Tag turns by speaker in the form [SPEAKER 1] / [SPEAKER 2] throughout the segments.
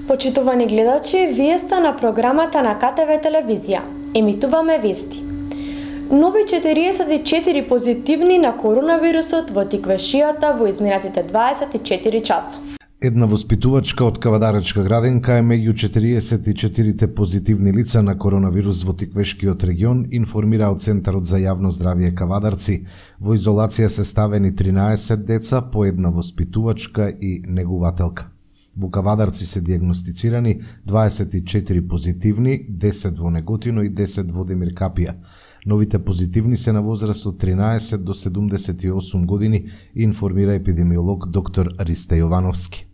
[SPEAKER 1] Почитувани гледачи, вие сте на програмата на КТВ телевизија. Емитуваме вести. Нови 44 позитивни на коронавирусот во Тиквешијата во изминатите 24 часа.
[SPEAKER 2] Една воспитувачка од Кавадаречка градинка е меѓу 44 позитивни лица на коронавирус во Тиквешкиот регион, информира од Центарот за јавно здравје Кавадарци. Во изолација се ставени 13 деца, по една воспитувачка и негувателка. Во Кавадарци се диагностицирани 24 позитивни, 10 во Неготино и 10 во Демир Капија. Новите позитивни се на возраст од 13 до 78 години, информира епидемиолог доктор Ристе Јовановски.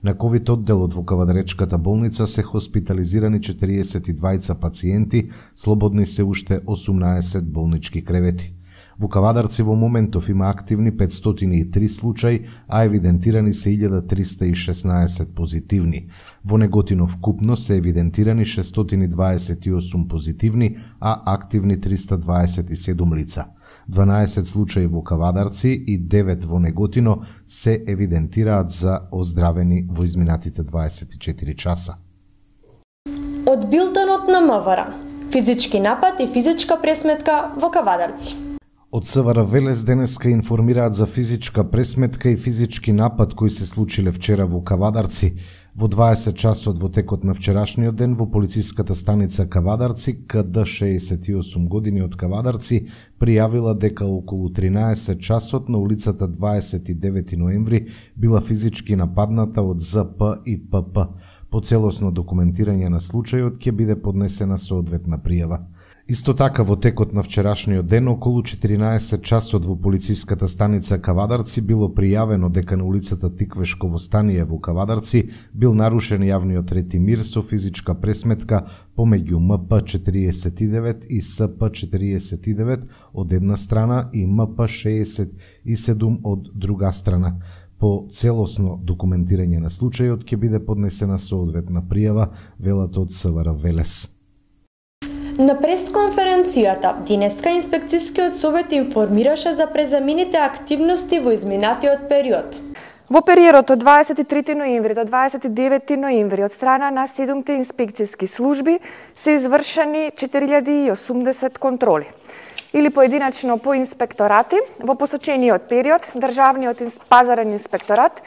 [SPEAKER 2] На ковид одделот во Кавадаречката болница се хоспитализирани 42 пациенти, слободни се уште 18 болнички кревети. Во Кавадарци во моментов има активни 503 случаи, а евидентирани се 1316 позитивни. Во Неготино вкупно се евидентирани 628 позитивни, а активни 327 лица. 12 случаи во Кавадарци и 9 во Неготино се евидентираат за оздравени во изминатите 24 часа.
[SPEAKER 1] Од билтенот на МВР, физички напад и физичка пресметка во Кавадарци.
[SPEAKER 2] Од СВР Велес денеска информираат за физичка пресметка и физички напад кои се случиле вчера во Кавадарци. Во 20 часот во текот на вчерашниот ден во полициската станица Кавадарци, КД 68 години од Кавадарци, пријавила дека околу 13 часот на улицата 29 ноември била физички нападната од ЗП и ПП. По целосно документирање на случајот ќе биде поднесена соодветна пријава. Исто така во текот на вчерашниот ден околу 14 часот во полициската станица Кавадарци било пријавено дека на улицата Тиквешково стание во Кавадарци бил нарушен јавниот ред и мир со физичка пресметка помеѓу МП-49 и СП-49 од една страна и МП-67 од друга страна. По целосно документирање на случајот ќе биде поднесена соодветна пријава, велат од СВР Велес.
[SPEAKER 1] На пресконференцијата, денеска инспекцијскиот совет информираше за презамените активности во изминатиот период.
[SPEAKER 3] Во периодот од 23 ноември до 29 ноември од страна на 7 инспекцијски служби се извршени 4080 контроли. Или поединачно по инспекторати, во посочениот период Државниот пазарен инспекторат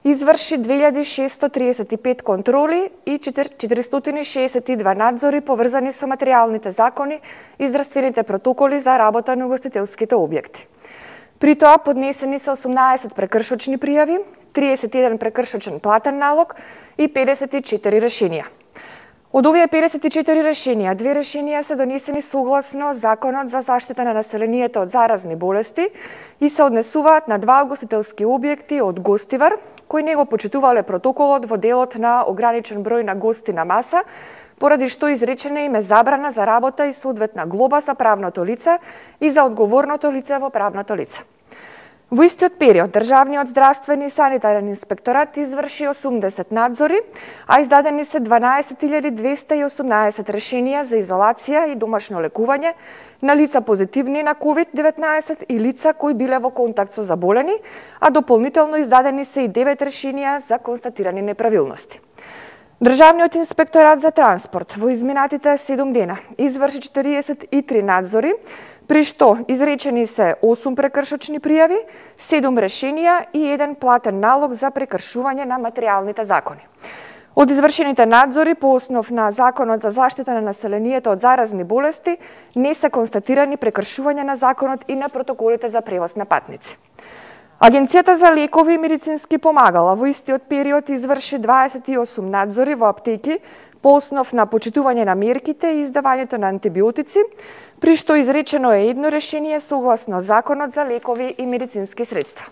[SPEAKER 3] изврши 2635 контроли и 462 надзори поврзани со материјалните закони и здравствените протоколи за работа на угостителските објекти. При тоа поднесени се 18 прекршочни пријави, 31 прекршочен платен налог и 54 решенија. Од овие 54 решенија, 2 решенија се донесени согласно Законот за заштита на населението од заразни болести и се однесуваат на 2 угостителски објекти од Гостивар, кои не го почитувале протоколот во делот на ограничен број на гости на маса, поради што изречена им е забрана за работа и соодветна глоба за правното лице и за одговорното лице во правното лице. Во истиот период, Државниот здравствен и санитарен инспекторат изврши 80 надзори, а издадени се 12218 решенија за изолација и домашно лекување на лица позитивни на COVID-19 и лица кои биле во контакт со заболени, а дополнително издадени се и 9 решенија за констатирани неправилности. Државниот инспекторат за транспорт во изминатите 7 дена изврши 43 надзори, при што изречени се 8 прекршочни пријави, 7 решенија и 1 платен налог за прекршување на материјалните закони. Од извршените надзори по основ на Законот за заштита на населението од заразни болести не се констатирани прекршување на законот и на протоколите за превоз на патници. Агенцијата за лекови и медицински помагала во истиот период изврши 28 надзори во аптеки по основ на почитување на мерките и издавањето на антибиотици, при што изречено е едно решение согласно Законот за лекови и медицински средства.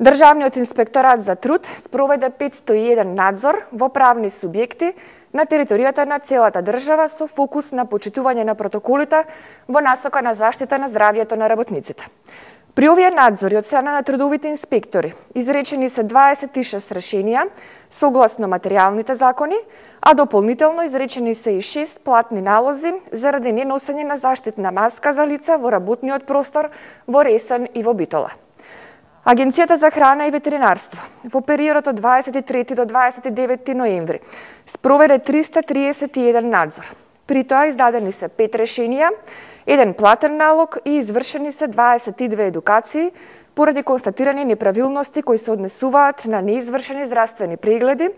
[SPEAKER 3] Државниот инспекторат за труд спроведе 501 надзор во правни субјекти на територијата на целата држава со фокус на почитување на протоколите во насока на заштита на здравјето на работниците. При овие надзори од страна на трудовите инспектори изречени се 26 решенија согласно материјалните закони, а дополнително изречени се и 6 платни налози заради неносење на заштитна маска за лица во работниот простор во Ресен и во Битола. Агенцијата за храна и ветеринарство во периодот од 23 до 29 ноември спроведе 331 надзор. При тоа издадени се 5 решенија, 1 платен налог и извршени се 22 едукации поради констатирани неправилности кои се однесуваат на неизвршени здравствени прегледи,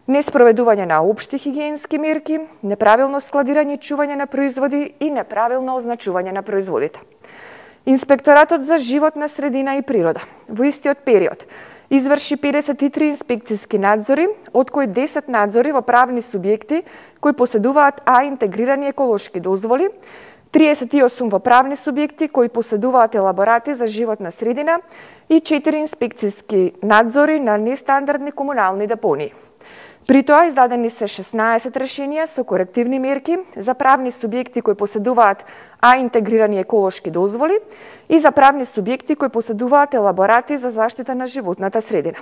[SPEAKER 3] неспроведување на општи хигиенски мерки, неправилно складирање и чување на производи и неправилно означување на производите. Инспекторатот за животна средина и природа во истиот период изврши 53 инспекцијски надзори, од кои 10 надзори во правни субјекти кои поседуваат интегрирани еколошки дозволи, 38 во правни субјекти кои поседуваат елаборати за животна средина и 4 инспекцијски надзори на нестандардни комунални депонии. При тоа издадени се 16 решенија со корективни мерки за правни субјекти кои поседуваат интегрирани еколошки дозволи и за правни субјекти кои поседуваат елаборати за заштита на животната средина.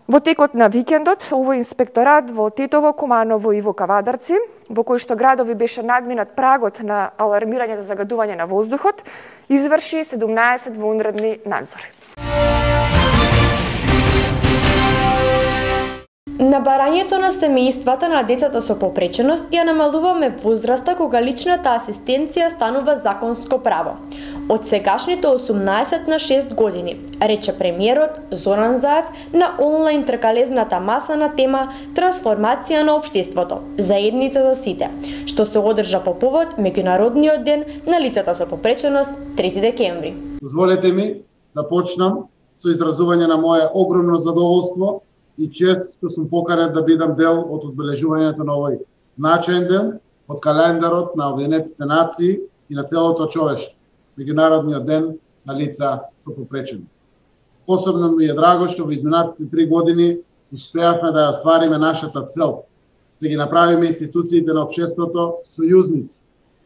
[SPEAKER 3] Во текот на викендот, овој инспекторат во Тетово, Куманово и во Кавадарци, во кои што градови беше надминат прагот на алармирање за загадување на воздухот, изврши 17 вонредни надзори.
[SPEAKER 1] На барањето на семејствата на децата со попреченост ја намалуваме возраста кога личната асистенција станува законско право. Од сегашните 18 на 6 години, рече премиерот Зоран Заев на онлайн тркалезната маса на тема Трансформација на општеството, заедница за сите, што се одржа по повод Меѓународниот ден на лицата со попреченост 3 декември.
[SPEAKER 4] Дозволете ми да почнам со изразување на моје огромно задоволство и чест што сум поканет да бидам дел од одбележувањето на овој значаен ден од календарот на Обединетите нации и на целото човештво, Меѓународниот ден на лица со попреченост. Посебно ми е драго што во изминатите 3 години успеавме да ја оствариме нашата цел, да ги направиме институциите на општеството сојузници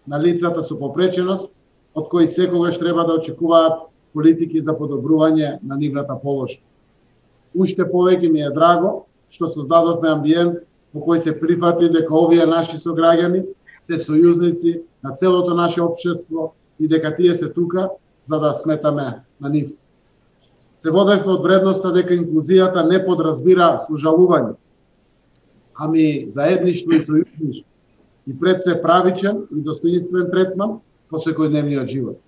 [SPEAKER 4] на лицата со попреченост, од кои секогаш треба да очекуваат политики за подобрување на нивната положба. Уште повеќе ми е драго што создадовме амбиент во кој се прифати дека овие наши сограѓани се сојузници на целото наше општество и дека тие се тука за да сметаме на нив. Се водевме од вредноста дека инклузијата не подразбира сожалување, ами заедништво и сојузништво и пред се правичен и достоинствен третман во секојдневниот живот.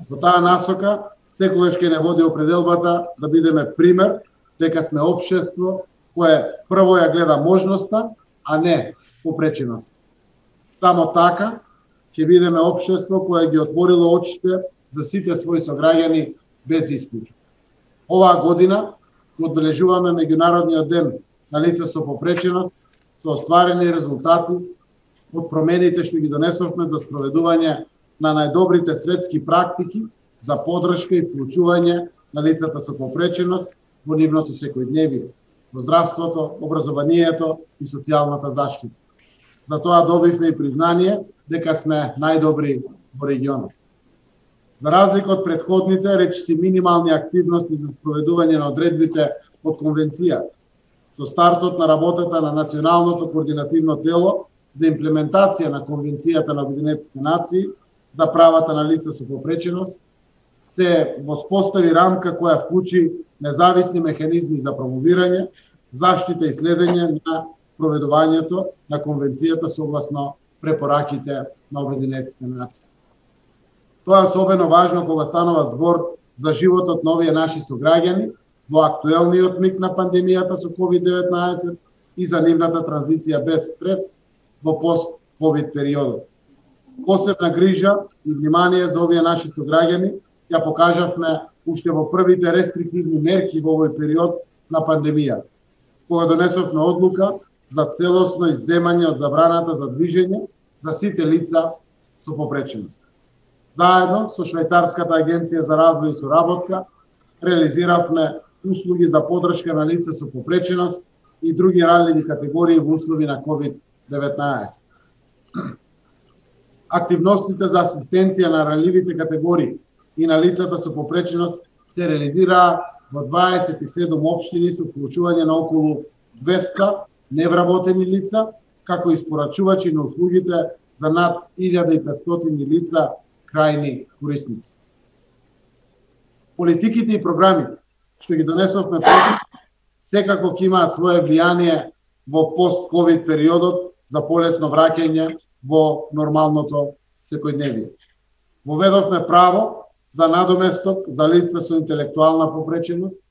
[SPEAKER 4] Во таа насока секогаш ќе не води определбата да бидеме пример дека сме општество кое прво ја гледа можноста, а не попреченост. Само така ќе бидеме општество кое ги отворило очите за сите своји сограѓани без исклучок. Оваа година одбележуваме Меѓународниот ден на лица со попреченост со остварени резултати од промените што ги донесовме за спроведување на најдобрите светски практики за поддршка и вклучување на лицата со попреченост во нивното секојдневие, во здравството, образованието и социјалната заштита. Затоа добивме и признание дека сме најдобри во регионот. За разлика од претходните, речиси минимални активности за спроведување на одредбите од конвенција, со стартот на работата на Националното координативно тело за имплементација на Конвенцијата на Обединетите нации за правата на лица со попреченост, се воспостави рамка која вклучи независни механизми за промовирање, заштита и следење на спроведувањето на Конвенцијата согласно препораките на Обединетите нации. Тоа е особено важно кога станува збор за животот на овие наши сограѓани во актуелниот миг на пандемијата со COVID-19 и за нивната транзиција без стрес во пост-COVID периодот. Посебна грижа и внимание за овие наши сограѓани ја покажавме уште во првите рестриктивни мерки во овој период на пандемија, кога донесовме одлука за целосно изземање од забраната за движење за сите лица со попреченост. Заедно со Швајцарската агенција за развој и соработка реализиравме услуги за поддршка на лица со попреченост и други ранливи категории во услови на COVID-19. Активностите за асистенција на ранливите категории и на лицата со попреченост се реализираа во 27 општини со вклучување на околу 200 невработени лица, како испорачувачи на услугите за над 1500 лица крајни корисници. Политиките и програмите што ги донесовме секако ќе имаат свое влијание во пост-ковид периодот за полесно враќање во нормалното секојдневие. Воведовме право за надоместок за лица со интелектуална попреченост,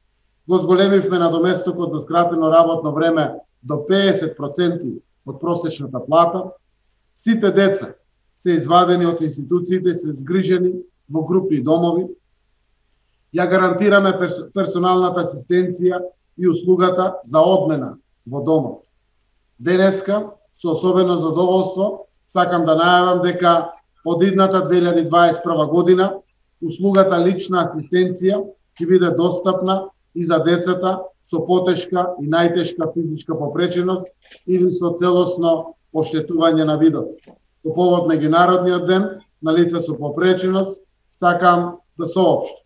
[SPEAKER 4] го зголемивме надоместокот за скратено работно време до 50% од просечната плата, сите деца се извадени од институциите, се згрижени во групи и домови, ја гарантираме персоналната асистенција и услугата за одмена во домот. Денеска, со особено задоволство, сакам да најавам дека од идната 2021 година услугата лична асистенција ќе биде достапна и за децата со потешка и најтешка физичка попреченост или со целосно оштетување на видот. По повод Меѓународниот ден на лица со попреченост, сакам да соопштам.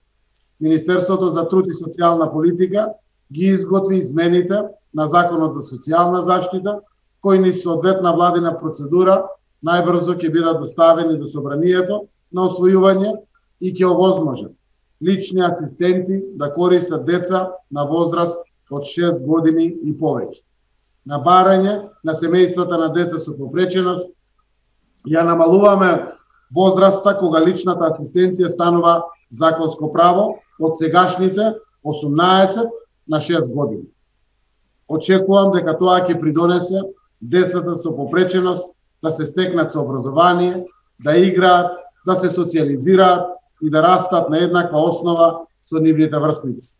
[SPEAKER 4] Министерството за труд и социјална политика ги изготви измените на Законот за социјална заштита, кои ни соодветна владина процедура најбрзо ќе бидат доставени до собранието на освојување и ќе овозможат лични асистенти да користат деца на возраст од 6 години и повеќе. На барање на семејствата на деца со попреченост ја намалуваме возраста кога личната асистенција станува законско право од сегашните 18 на 6 години. Очекувам дека тоа ќе придонесе децата со попреченост да се стекнат со образование, да играат, да се социјализираат и да растат на еднаква основа со нивните врсници.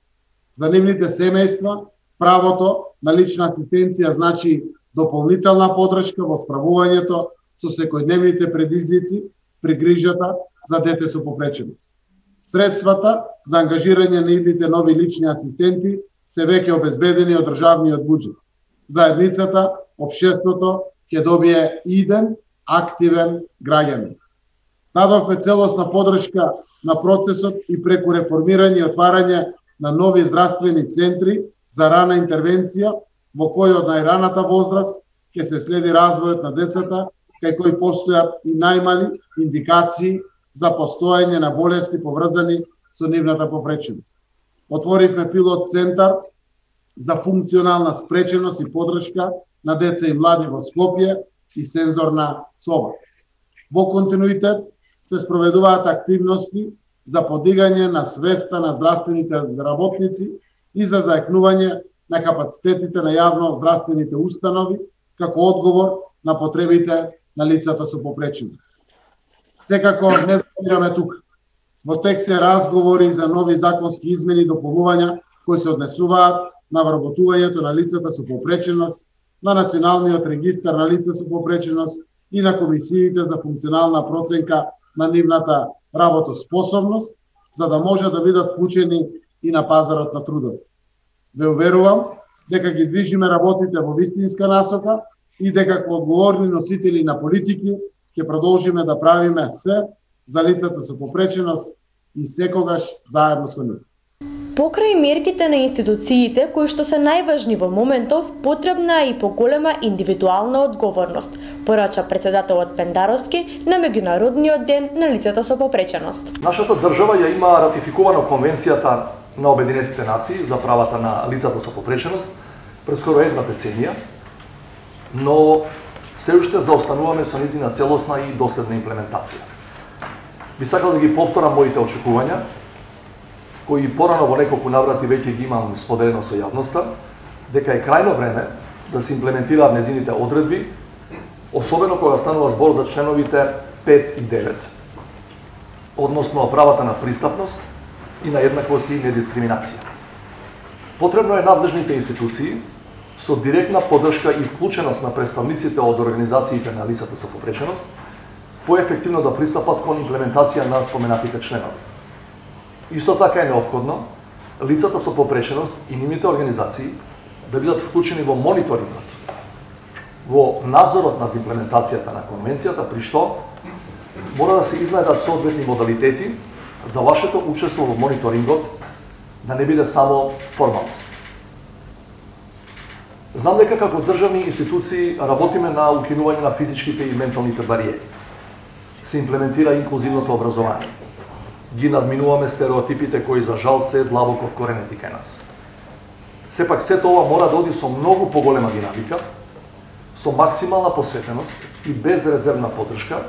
[SPEAKER 4] За нивните семејства, правото на лична асистенција значи дополнителна подршка во справувањето со секојдневните предизвици при грижата за дете со попреченост. Средствата за ангажирање на идните нови лични асистенти се веќе обезбедени од државниот буџет. Заедницата, општеството ќе добие иден, активен граѓанин. Дадовме целосна подршка на процесот и преку реформирање и отварање на нови здравствени центри за рана интервенција, во кој од најраната возраст ќе се следи развојот на децата, кај кои постојат и најмали индикации за постоење на болести поврзани со нивната попреченост. Отворивме пилот центар за функционална спреченост и подршка на деца и млади во Скопје и сензорна соба. Во континуитет се спроведуваат активности за подигање на свеста на здравствените работници и за заекнување на капацитетите на јавно здравствените установи како одговор на потребите на лицата со попреченост. Секако не забираме тука. Во тек се разговори за нови законски измени и дополнувања кои се однесуваат на вработувањето на лицата со попреченост, на Националниот регистар на лица со попреченост и на комисиите за функционална проценка на нивната работоспособност, за да може да бидат вклучени и на пазарот на трудот. Ве уверувам дека ги движиме работите во вистинска насока и дека како одговорни носители на политики ќе продолжиме да правиме се за лицата со попреченост и секогаш заедно со нив.
[SPEAKER 1] Покрај мерките на институциите кои што се најважни во моментов, потребна е и поголема индивидуална одговорност, порача председателот Пендаровски на Меѓународниот ден на лицата со попреченост.
[SPEAKER 5] Нашата држава ја има ратификувано Конвенцијата на Обединетите нации за правата на лицата со попреченост пред скоро една деценија, но се уште заостануваме со нејзина целосна и доследна имплементација. Би сакал да ги повторам моите очекувања, кои порано во неколку наврати веќе ги имам споделено со јавноста, дека е крајно време да се имплементираат нејзините одредби, особено кога станува збор за членовите 5 и 9, односно правата на пристапност и на еднаквост и недискриминација. Потребно е надлежните институции со директна поддршка и вклученост на представниците од организациите на лицата со попреченост поефективно да пристапат кон имплементација на споменатите членови. Исто така е неопходно лицата со попреченост и нивните организации да бидат вклучени во мониторингот, во надзорот над имплементацијата на конвенцијата, при што мора да се изнајдат соодветни модалитети за вашето учество во мониторингот да не биде само формалност. Знам дека како државни институции работиме на укинување на физичките и менталните бариери. Се имплементира инклузивното образование. Ги надминуваме стереотипите кои за жал се длабоко вкоренети кај нас. Сепак сето ова мора да оди со многу поголема динамика, со максимална посветеност и безрезервна поддршка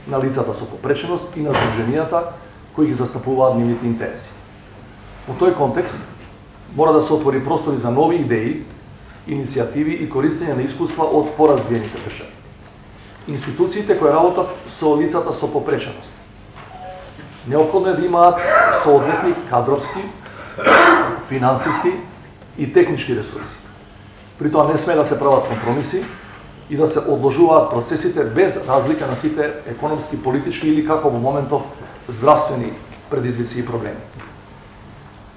[SPEAKER 5] на лицата со попреченост и на здруженијата кои ги застапуваат нивните интереси. Во тој контекст мора да се отвори простори за нови идеи, иницијативи и користење на искуства од поразвиените држави. Институциите кои работат со лицата со попреченост неопходно е да имаат соодветни кадровски, финансиски и технички ресурси. При тоа не сме да се прават компромиси и да се одложуваат процесите без разлика на сите економски, политички или како во моментов здравствени предизвици и проблеми.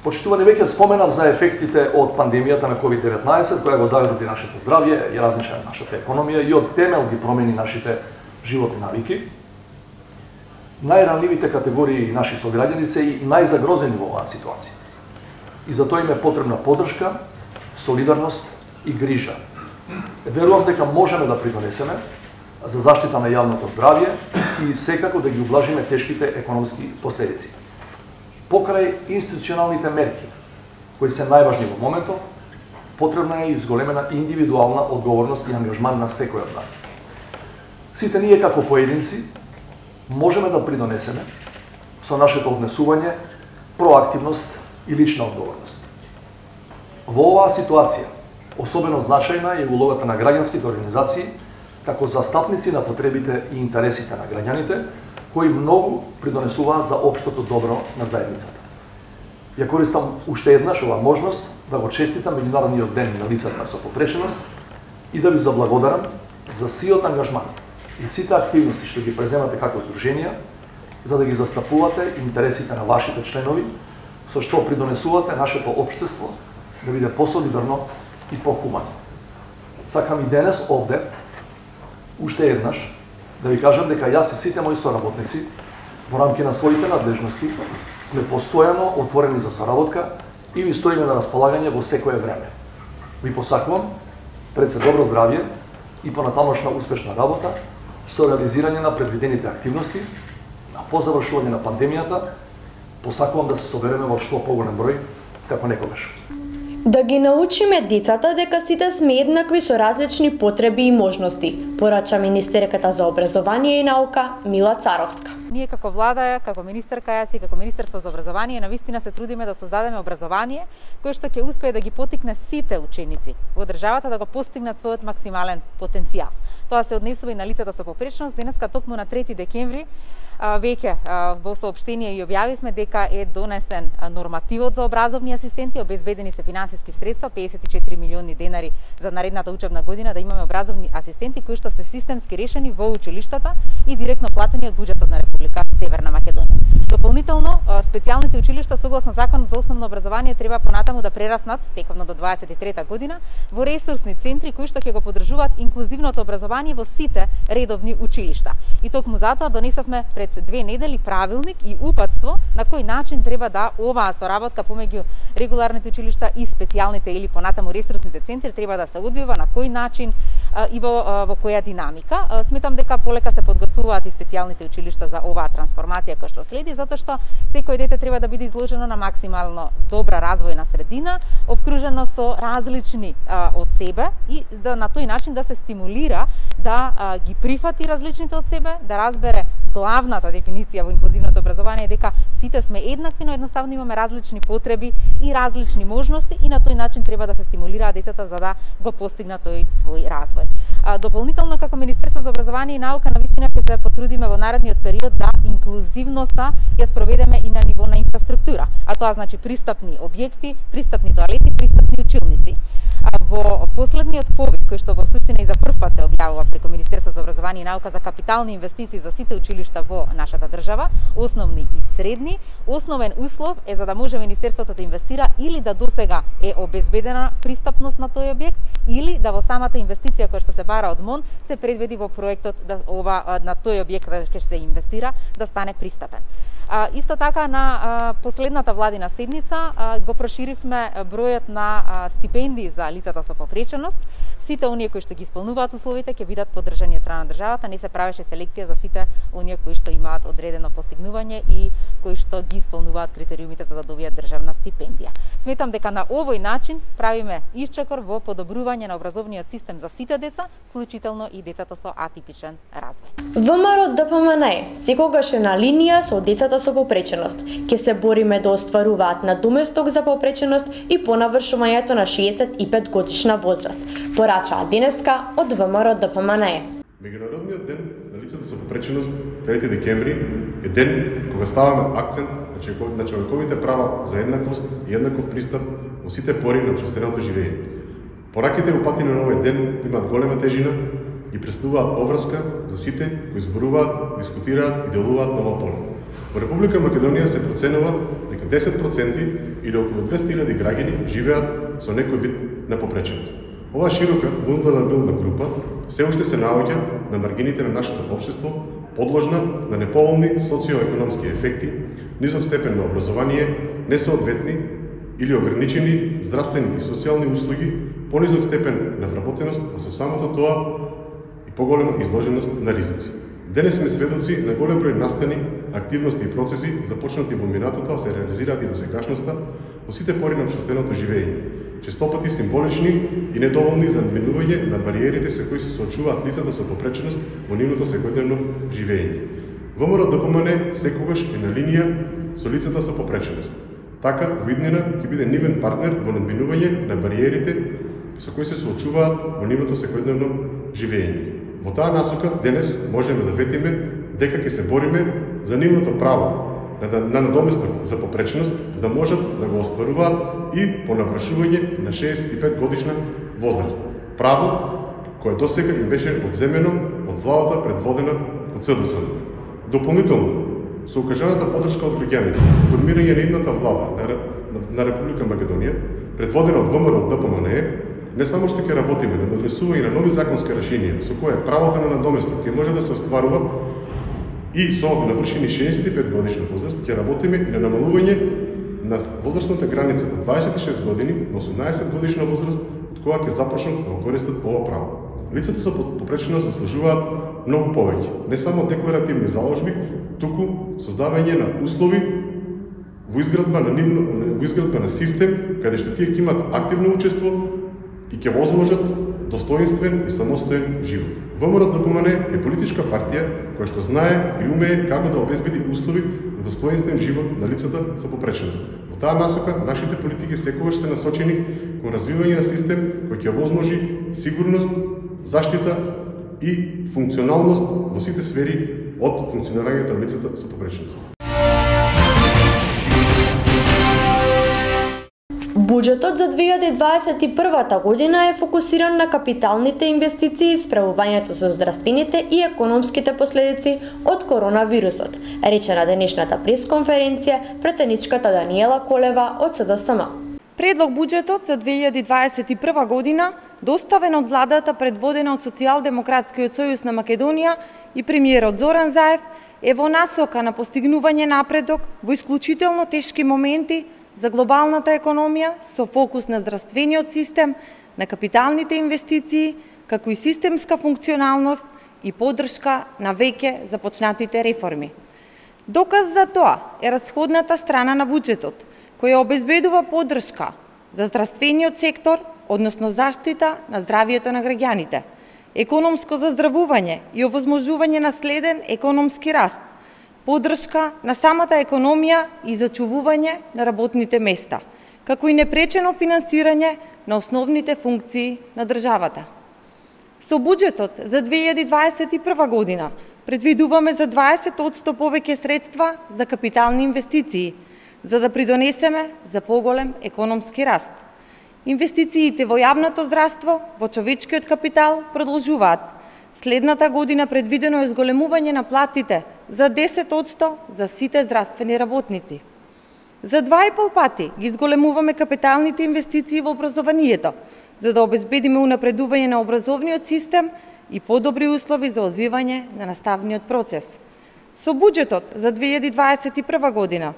[SPEAKER 5] Почитувани, веќе споменав за ефектите од пандемијата на COVID-19, која го загрази нашето здравје, ја разнича нашата економија и од темел ги промени нашите животни навики. Најранливите категории наши сограѓани се и најзагрозени во оваа ситуација. И за тоа им е потребна поддршка, солидарност и грижа. Верувам дека можеме да придонесеме за заштита на јавното здравје и секако да ги ублажиме тешките економски последици. Покрај институционалните мерки, кои се најважни во моментов, потребна е изголемена индивидуална одговорност и ангажман на секој од нас. Сите ние како поединци можеме да придонесеме со нашето однесување, проактивност и лична одговорност. Во оваа ситуација, особено значајна е улогата на граѓанските организации како застапници на потребите и интересите на граѓаните, кои многу придонесуваат за општото добро на заедницата. Ја користам уште еднаш оваа можност да го честитам Меѓународниот ден на лицата со попреченост и да ви заблагодарам за сиот ангажман и сите активности што ги преземате како здруженија, за да ги застапувате интересите на вашите членови, со што придонесувате нашето општество да биде посолидарно и похумано. Сакам и денес овде, уште еднаш, да ви кажам дека јас и сите мои соработници во рамки на своите надлежности сме постојано отворени за соработка и ви стоиме на располагање во секое време. Ви посакувам пред се добро здравје и понатамошна успешна работа со реализирање на предвидените активности, по завршување на пандемијата. Посакувам да се собереме во што поголем број како некогаш.
[SPEAKER 1] Да ги научиме децата дека сите сме еднакви со различни потреби и можности, порача министерката за образование и наука Мила Царовска.
[SPEAKER 6] Ние како влада, како министерка јас и како Министерство за образование навистина се трудиме да создадеме образование кое што ќе успее да ги поттикне сите ученици во државата да го постигнат својот максимален потенцијал. Тоа се однесува и на лицата со попреченост. Денеска токму на 3 декември веќе во соопштение и објавивме дека е донесен нормативот за образовни асистенти, обезбедени се финансиски средства, 54 милиони денари за наредната учебна година, да имаме образовни асистенти кои што се системски решени во училиштата и директно платени од буџетот на Република Северна Македонија. Дополнително, специјалните училишта согласно Законот за основно образование треба понатаму да прераснат тековно до 23-та година во ресурсни центри кои што ќе го поддржуваат инклузивното образование во сите редовни училишта. И токму затоа донесовме пред 2 недели правилник и упатство на кој начин треба да оваа соработка помеѓу регуларните училишта и специјалните или понатаму ресурсните центри треба да се одвива, на кој начин и во која динамика. Сметам дека полека се подготвуваат и специјалните училишта за оваа трансформација која што следи, затоа што секој дете треба да биде изложено на максимално добра развојна средина, обкружено со различни од себе и да на тој начин да се стимулира да ги прифати различните од себе, да разбере главната дефиниција во инклузивното образование дека сите сме еднакви, но едноставно имаме различни потреби и различни можности и на тој начин треба да се стимулираат децата за да го постигнат тој свој развој. Дополнително како Министерство за образование и наука навистина ќе се потрудиме во наредниот период да инклузивноста ја спроведеме и на ниво на инфраструктура, а тоа значи пристапни објекти, пристапни тоалети, пристапни училници. Во последниот повик кој што во суштина и за прв пат се објавува преку Министерство за образование и наука за капитални инвестиции за сите училишта во нашата држава, основни и средни, основен услов е за да може Министерството да инвестира или да досега е обезбедена пристапност на тој објект или да во самата инвестиција која што се бара од МОН се предвиди во проектот да на тој објект ќе се инвестира да стане пристапен. Исто така на последната владина седница го проширивме бројот на стипендии за лицата со попреченост. Сите оние кои што ги исполнуваат условите ќе бидат поддржани од страна на државата, не се правеше селекција за сите оние кои што имаат одредено постигнување и кои што ги исполнуваат критериумите за да добијат државна стипендија. Сметам дека на овој начин правиме исчекор во подобрување на образовниот систем за сите деца, вклучително и децата со атипичен развој.
[SPEAKER 1] ВМРО ДПМН секогаш е на линија со децата со попреченост. Ќе се бориме да остваруваат надоместок за попреченост и по навршувањето на 65 годишна возраст, порачаа денеска од ВМРО ДПМН.
[SPEAKER 7] Меѓународниот ден на лицата со попреченост, 3 декември, е ден кога ставаме акцент на човековите права за еднаквост и еднаков пристап во сите пори на општественото живење. Пораките и упатени на овој ден имаат голема тежина и представуваат обврска за сите кои зборуваат, дискутираат и делуваат на ова поле. Во Република Македонија се проценува дека 10% или околу 200.000 граѓани живеат со некој вид на попреченост. Оваа широка вулнерабилна група се уште се наоѓа на маргините на нашето општество, подложна на неповолни социоекономски ефекти, низок степен на образование, несоодветни или ограничени здравствени и социјални услуги, понизок степен на вработеност, а со самото тоа и поголема изложеност на ризици. Денес сме сведоци на голем број настани, активности и процеси започнати во минатото, а се реализираат и во сегашноста во сите пори на општественото живење. Честопати символични и недоволни за надминување на бариерите со кои се соочуваат лицата со попреченост во нивното секојдневно живење. ВМРО ДПМН секогаш е на линија со лицата со попреченост. Така, во иднина ќе биде нивен партнер во надминување на бариерите со кои се соочуваат во нивното секојдневно живење. Во таа насока денес можеме да ветиме дека ќе се бориме за нивното право на надоместок за попреченост да можат да го остваруваат и по навршување на 65 годишна возраст. Право кое досега им беше одземено од владата предводена од СДСМ. Дополнително, со укажаната поддршка од граѓаните, формирање на идната влада на Република Македонија, предводена од ВМРО ДПМН, не само што ќе работиме на донесување на нови законски решенија со кое правото на надоместок ќе може да се остварува и со навршени 65 годишна возраст, ќе работиме и на намалување на возрастната граница од 26 години на 18 годишна возраст, од кога ќе започнат да го користат ова право. Лицата со попреченост заслужуваат многу повеќе, не само декларативни заложби, туку создавање на услови во изградба на систем каде што тие ќе имаат активно учество и ќе возможат достоинствен и самостоен живот. ВМРО ДПМН е политичка партија која што знае и умее како да обезбеди услови за достоинствен живот на лицата со попреченост. Во таа насока, нашите политики секогаш се насочени кон развивање на систем кој ќе возможи сигурност, заштита и функционалност во сите сфери од функционирањето на лицата со попреченост.
[SPEAKER 1] Буџетот за 2021 година е фокусиран на капиталните инвестиции и справувањето со здравствените и економските последици од коронавирусот, рече на денешната пресконференција претеничката Даниела Колева од СДСМ.
[SPEAKER 3] Предлог буџетот за 2021 година, доставен од владата предводена од Социјалдемократскиот сојуз на Македонија и премиерот Зоран Заев, е во насока на постигнување напредок во исклучително тешки моменти за глобалната економија со фокус на здравствениот систем, на капиталните инвестиции, како и системска функционалност и поддршка на веќе започнатите реформи. Доказ за тоа е расходната страна на буџетот, која обезбедува поддршка за здравствениот сектор, односно заштита на здравието на граѓаните, економско заздравување и овозможување на следен економски раст, поддршка на самата економија и зачувување на работните места, како и непречено финансирање на основните функции на државата. Со буџетот за 2021 година предвидуваме за 20% повеќе средства за капитални инвестиции, за да придонесеме за поголем економски раст. Инвестициите во јавното здравство, во човечкиот капитал продолжуваат. Следната година предвидено е зголемување на платите за 10% за сите здравствени работници. За 2,5 пати ги зголемуваме капиталните инвестиции во образованието, за да обезбедиме унапредување на образовниот систем и подобри услови за одвивање на наставниот процес.
[SPEAKER 8] Со буџетот за 2021 година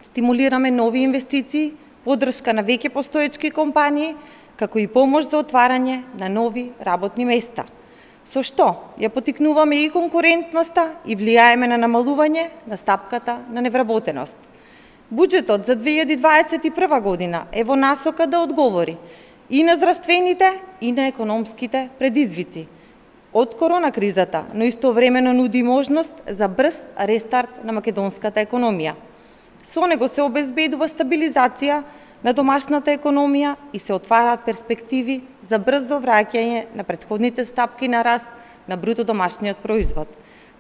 [SPEAKER 8] стимулираме нови инвестиции, поддршка на веќе постоечки компании, како и помош за отварање на нови работни места. Со што ја потикнуваме и конкурентноста и влијаеме на намалување на стапката на невработеност. Буџетот за 2021 година е во насока да одговори и на здравствените и на економските предизвици од корона кризата, но истовремено нуди можност за брз рестарт на македонската економија. Со него се обезбедува стабилизација на домашната економија и се отвараат перспективи за брзо враќање на претходните стапки на раст на бруто домашниот производ.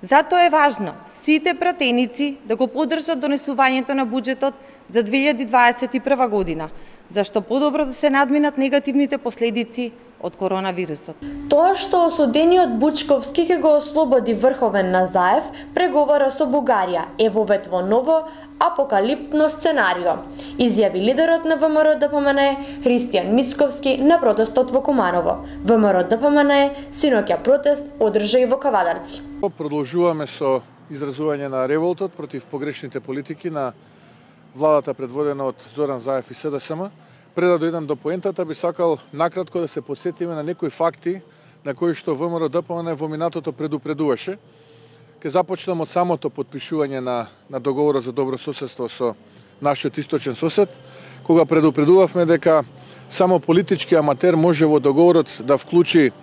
[SPEAKER 8] Затоа е важно сите пратеници да го поддржат донесувањето на буџетот за 2021 година, зашто подобро да се надминат негативните последици од коронавирусот.
[SPEAKER 1] Тоа што осудениот Бучковски ќе го ослободи Врховен Назаев, преговара со Бугарија е вовет во ново апокалиптно сценарио, изјави лидерот на ВМРО-ДПМНЕ Христијан Мицковски на протестот во Куманово. ВМРО-ДПМНЕ синоќа протест одржа и во Кавадарци.
[SPEAKER 9] Продолжуваме со изразување на револтот против погрешните политики на владата предводена од Зоран Заев и СДСМ. Пред да дојдам до поентата, би сакал накратко да се подсетиме на некои факти на кои што ВМРО-ДПМНЕ во минатото предупредуваше. Ке започнам од самото подпишување на договорот за добро соседство со нашиот источен сосед, кога предупредувавме дека само политички аматер може во договорот да вклучи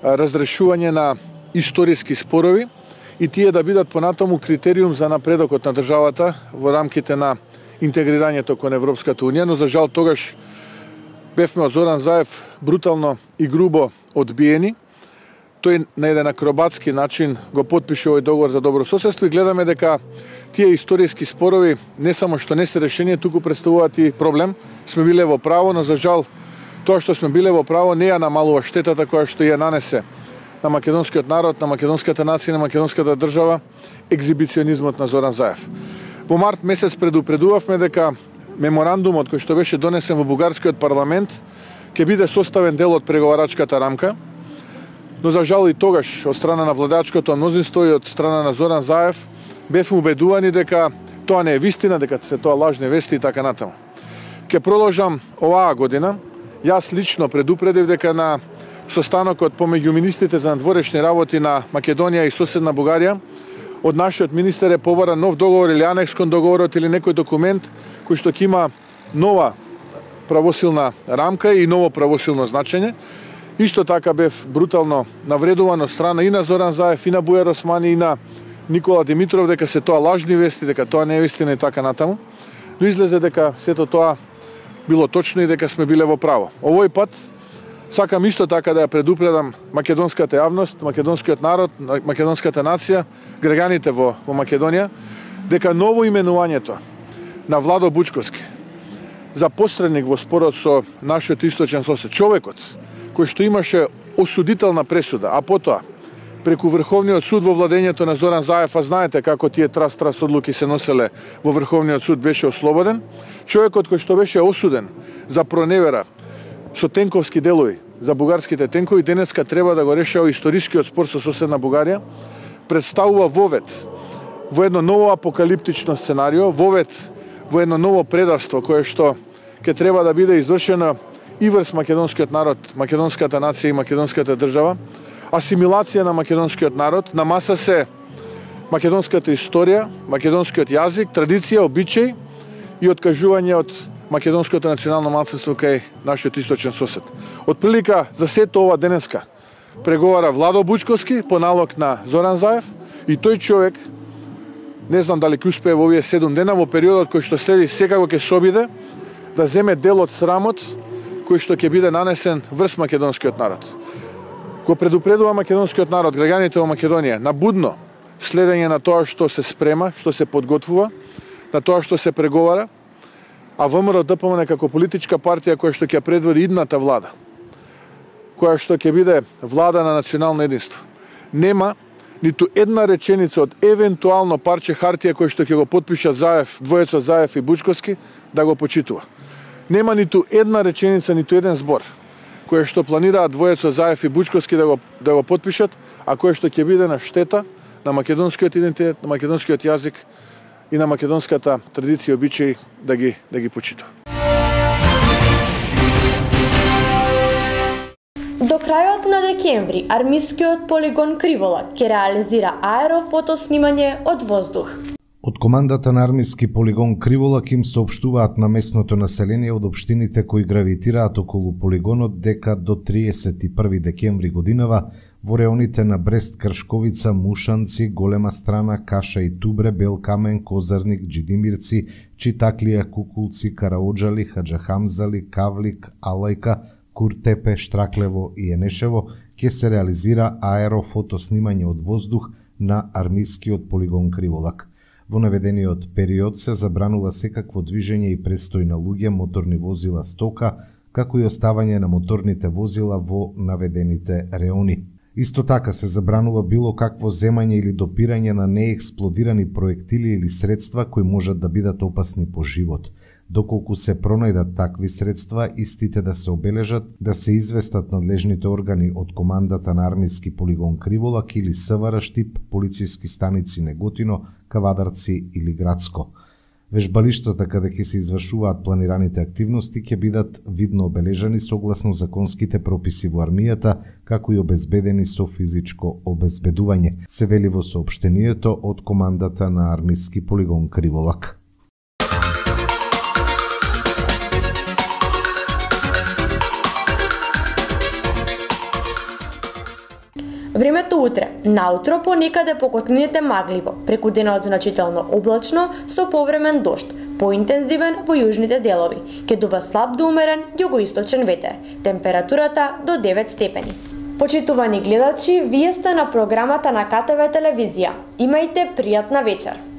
[SPEAKER 9] разрешување на историски спорови и тие да бидат понатаму критериум за напредокот на државата во рамките на интегрирањето кон Европската Унија, но за жал тогаш бевме од Зоран Заев брутално и грубо одбиени. Тој на еден акробатски начин го подпише овој договор за добро соседство и гледаме дека тие историски спорови не само што не се решение, туку представуваат и проблем. Сме биле во право, но за жал тоа што сме биле во право не ја намалува штетата која што ја нанесе на македонскиот народ, на македонската нација, на македонската држава екзибиционизмот на Зоран Заев. Во март месец предупредувавме дека меморандумот кој што беше донесен во бугарскиот парламент ќе биде составен дел од преговарачката рамка, но за жал и тогаш од страна на владачкото мнозинство и од страна на Зоран Заев бевме убедувани дека тоа не е вистина, дека се тоа лажни вести и така натаму. Ке продолжам оваа година. Јас лично предупредив дека на состанокот помеѓу министрите за надворешни работи на Македонија и соседна Бугарија од нашиот министер е побара нов договор или анекс кон договорот или некој документ кој што ќе има нова правосилна рамка и ново правосилно значење. Исто така бев брутално навредуван од страна и на Зоран Заев, и на Бујар Османи, и на Никола Димитров дека се тоа лажни вести, дека тоа не е вистина и така натаму. Но излезе дека сето тоа било точно и дека сме биле во право. Овој пат сакам исто така да ја предупредам македонската јавност, македонскиот народ, македонската нација, граѓаните во Македонија, дека ново именувањето на Владо Бучковски за посредник во спорот со нашиот источен сосед, човекот кој што имаше осудителна пресуда, а потоа преку Врховниот суд во владењето на Зоран Заев, а знаете како тие трас одлуки се носеле во Врховниот суд, беше ослободен, човекот кој што беше осуден за проневера со тенковски делови за бугарските тенкови, денеска треба да го решава историскиот спор со соседна Бугарија, представува вовет во едно ново апокалиптично сценарио, вовет во едно ново предавство кое што ќе треба да биде извршено и врз македонскиот народ, македонската нација и македонската држава, асимилација на македонскиот народ, на маса се македонската историја, македонскиот јазик, традиција, обичај и откажување од македонското национално малцинство кај нашиот источен сосед. Од прилика за сето ова денеска преговара Владо Бучковски по налог на Зоран Заев и тој човек, не знам дали ќе успее во овие 7 дена, во периодот кој што следи секако ќе се обиде да земе дел од срамот кој што ќе биде нанесен врз македонскиот народ. Го предупредува македонскиот народ, граѓаните во Македонија, на будно следење на тоа што се спрема, што се подготвува, на тоа што се преговара, а ВМРО-ДПМНЕ како политичка партија која што ќе предводи идната влада, која што ќе биде влада на национално единство, нема ниту една реченица од евентуално парче хартија кој што ќе го подпишат Заев, двојецот Заев и Бучковски, да го почитува. Нема ниту една реченица, ниту еден збор кој што планираат двојецот Заев и Бучковски да го подпишат, а кој што ќе биде на штета на македонскиот идентитет, на македонскиот јазик и на македонската традиција и обичаи да ги почитува.
[SPEAKER 1] До крајот на декември армискиот полигон Кривола ќе реализира аерофотоснимање од воздух.
[SPEAKER 2] Од командата на армиски полигон Криволак им соопштуваат на местното население од општините кои гравитираат околу полигонот дека до 31 декември годинава во реоните на Брест, Кршковица, Мушанци, Голема Страна, Каша и Тубре, Белкамен, Козарник, Джидимирци, Читаклија, Кукулци, Караоджали, Хаджахамзали, Кавлик, Алајка, Куртепе, Штраклево и Енешево ќе се реализира аерофотоснимање од воздух на армискиот полигон Криволак. Во наведениот период се забранува секакво движење и престој на луѓе, моторни возила, стока, како и оставање на моторните возила во наведените реони. Исто така се забранува било какво земање или допирање на неексплодирани проектили или средства кои можат да бидат опасни по живот. Доколку се пронајдат такви средства, истите да се обележат, да се известат надлежните органи од командата на армиски полигон Криволак или СВР Штип, полициски станици Неготино, Кавадарци или Градско. Вежбалиштата каде ќе се извршуваат планираните активности ќе бидат видно обележани согласно законските прописи во армијата, како и обезбедени со физичко обезбедување, се вели во соопштението од командата на армиски полигон Криволак.
[SPEAKER 1] Времето утре, наутро понекаде по котлините магливо, преку денот значително облачно со повремен дожд, поинтензивен во јужните делови, ќе дува слаб до умерен југоисточен ветер, температурата до 9 степени. Почитувани гледачи, вие сте на програмата на КТВ телевизија. Имајте пријатна вечер.